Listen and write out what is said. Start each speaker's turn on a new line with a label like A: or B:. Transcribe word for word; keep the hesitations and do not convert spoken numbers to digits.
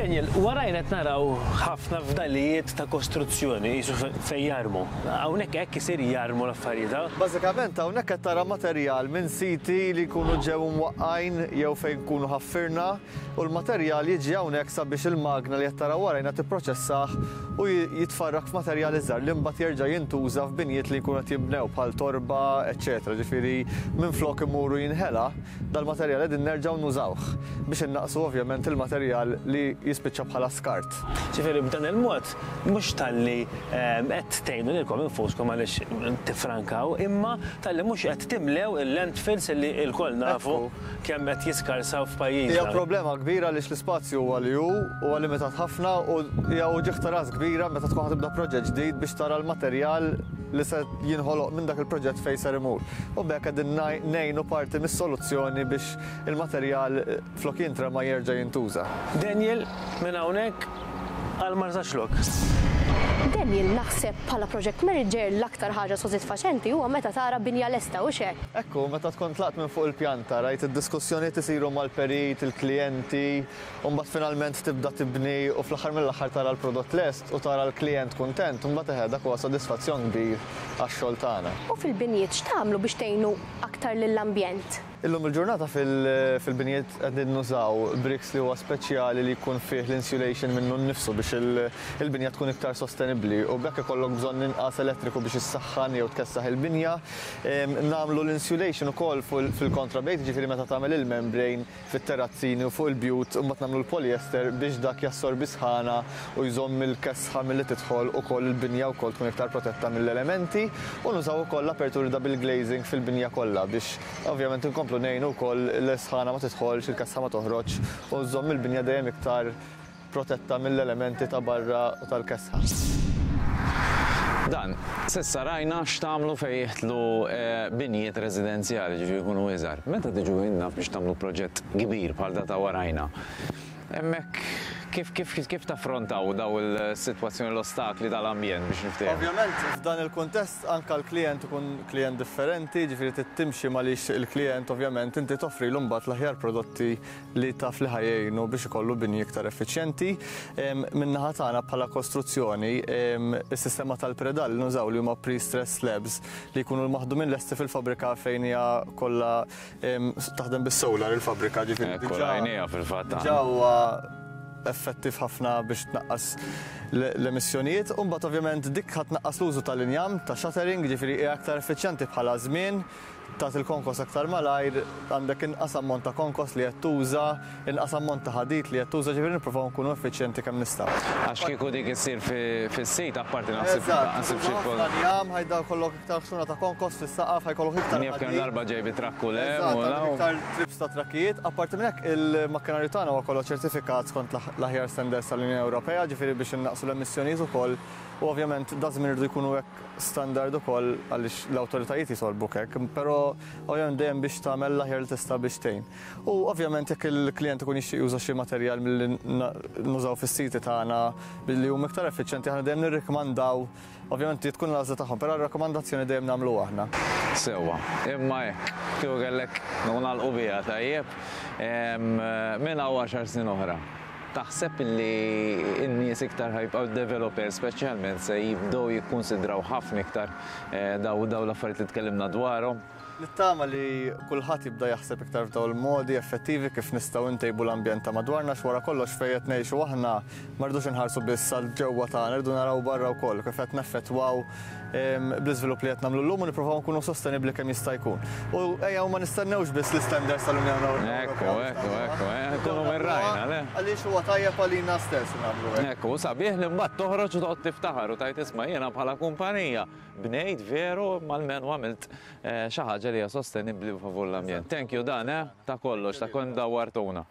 A: Daniel, warajna qed naraw ħafna fdalijiet ta' kostruzzjoni jisu fejn jarmu. Hawnhekk hekk isir, jarmu l-affarijiet, ha?
B: Bażikament hawnhekk qed tara materjal minn siti li jkunu ġew mwaqqajn jew fejn kunu ħaffirna, u l-materjal jiġi hawnhekk sabiex il-magna li qed tara warajna tipproċessah u jitfarrak f'materjal iżgħar li mbagħad jerġa' jintuża f'binjiet li jkunu qed jinbnew bħal torba, eċċetera. Ġifieri minflok imuru jinħela, dal-materjal qegħdin nerġgħu nużawh biex innaqsu ovvjament il-materjal li jispiċċa bħala skart.
A: Ġifieri b'dan il-mod mhux talli ehm, qed tgħinu lilkom infuskom għaliex tifrankaw, imma talli mhux qed timlew il-landfills li lkoll nafu kemm qed jiskarsaw f'pajjiżna.
B: Hija problema kbira għaliex l-ispazju huwa li hu huwa limitat ħafna u hija uġigħ ta' ras kbira meta tkun ħa tibda proġett ġdid biex tara l-materjal li se jinħoloq minn dak il-proġett fejn ser imur. U b'hekk qegħdin ngħinu parti mis-soluzzjoni biex il-materjal flok jintrema jerġa' jintuża.
A: Daniel, minn hawnhekk għal Marsaxlokk.
C: Daniel, naħseb bħala project manager l-aktar ħaġa sodisfaċenti huwa meta tara binja lesta, u hekk?
B: Ekku, meta tkun tlaqt minn fuq il-pjanta, rajt id-diskussjonijiet isiru mal-perit, il-klijenti, u mbagħad finalment tibda tibni u fl-aħħar mill-aħħar tara l-prodott lest u tara l-klijent kuntent, u mbagħad eħe, dak huwa sodisfazzjon kbir għax-xogħol tagħna.
C: U fil-binjiet x'tagħmlu biex tgħinu aktar lill-ambjent?
B: Illum il-ġurnata fil-binjiet qegħdin nużaw bricks li huwa speċjali li jkun fih l-insulation minnu nnifsu biex il-binja tkun iktar sostenibbli u b'hekk ikollok bżonn inqas elettriku biex issaħħan jew tkessaħ il-binja. Nagħmlu l-insulation ukoll fil-kontrabejt, ġifieri meta tagħmel il-membrane fit-terrazzini u fuq il-bjut, u mbagħad nagħmlu l-polyester biex dak jassorbi sħana u jżomm il-kesħa milli tidħol, ukoll il-binja wkoll tkun iktar protetta mill-elementi, u nużaw ukoll l-aperturi double glazing fil-binja kollha biex ovvjament inkomplu ngħinu wkoll l-sħana ma tidħolx, il-kesħa ma toħroġ u żżomm il-binja dejjem iktar protetta mill-elementi ta' barra u tal-kesħa.
D: Dan, s'issa rajna x'tagħmlu fejn jidħlu eh, binjiet residenzjali, ġifieri jkunu iżgħar. Meta tiġu inna biex tagħmlu proġett kbir bħal da ta' warajna, hemmhekk kif kif kif taffrontaw daw il-sitwazzjoni, l-ostakli tal-ambjent biex niftehmu?
B: Ovvjament, f'dan il-kuntest anka l-klient ikun klient differenti, ġifieri trid timxi malix il-klient, ovvjament inti toffri l mbagħad l-aħjar prodotti li taf li ħa jgħinu biex ikollu bini iktar effiċjenti. Min-naħa tagħna bħala kostruzzjoni, is-sistema tal-predal li nużaw, li huma pre-stress slabs li jkunu maħdumin lesti fil-fabrika fejn hija kollha taħdem bis-solar il-fabrika, ġifieri.
D: Ekku, rajnieha fil-fatt.
B: Diġà huwa effettiv ħafna biex tnaqqas l-emissjonijiet. U mbagħad ovvjament dik ħa tnaqqas l-użu tal-injam, ta' shuttering, ġifieri hija aktar effiċjenti bħala żmien, tagħti il-konkos aktar malajr, għandek inqas ammont ta' konkos li qed tuża, inqas ammont ta' ħadid li qed tuża, ġifieri nippruvaw nkunu effiċjenti kemm nistgħu.
D: Għax kieku dik issir fis-sit apparti naħseb
B: Eżatt,
D: naħseb xi
B: ħafna njam, ħa jkollok iktar ħxuna ta' konkos fis-saqaf, ħa jkollok iktar
D: Jaf kemm
B: ħadid.
D: darba ġej bi trakku le,
B: Eżatt,
D: u
B: għandek
D: law.
B: iktar trips ta' trakkijiet. Apparti minn hekk, il-makkinarju tagħna huwa kollu ċertifikat skont l-aħjar standards tal-Unjoni Ewropea, ġifieri biex innaqsu l-emissjonijiet ukoll. U ovvjament daż-żmien irridu jkunu hekk standard ukoll għaliex l-awtoritajiet jitolbuk hekk, però ovvjament dejjem biex tagħmel l-aħjar li tista' biex tgħin. U ovvjament jekk il-klient ikun jixtieq juża xi materjal milli nużaw fis-siti tagħna billi huma iktar effiċjenti, aħna dejjem nirrikmandaw, ovvjament tkun l-għażla tagħhom, però r-rakkomandazzjoni dejjem nagħmlu aħna.
D: Sewwa, imma hekk, kieku kellek nagħlqu biha tajjeb, minn hawn għaxar snin oħra, taħseb li n-nies iktar ħa jibqgħu, developers speċjalment, se jibdew jikkonsidraw ħafna iktar eh, daw daw l-affarijiet li tkellimna dwarhom?
B: Nittama li kulħadd jibda jaħseb iktar f'daw il-modi effettivi kif nistgħu ntejbu l-ambjent ta' madwarna, x'wara kollox fejn qed ngħixu aħna ma rridux inħarsu biss għal ġewwa tagħna, rridu naraw barra wkoll kif qed neffettwaw bl-iżvilupp li qed nagħmlu llum u nippruvaw nkunu sostenibbli kemm jista' jkun. U ejja ma nistennewx biss l-istandards tal-Unjoni Ewropea.
D: Ekku, ekku, ekku, nkunu mirrajna, le?
B: Għaliex huwa tajjeb għalina stess nagħmlu hekk.
D: Ekku, sabiħ li mbagħad toħroġ u toqgħod tiftaħar u tgħid, "Isma', jiena bħala kumpanija bnejt veru malmen u għamilt eh, xi ħaġa li hija sostenibbli u favur l-ambjent." Thank you, Dan, eh, ta' kollox, ta' kon dawwartuna.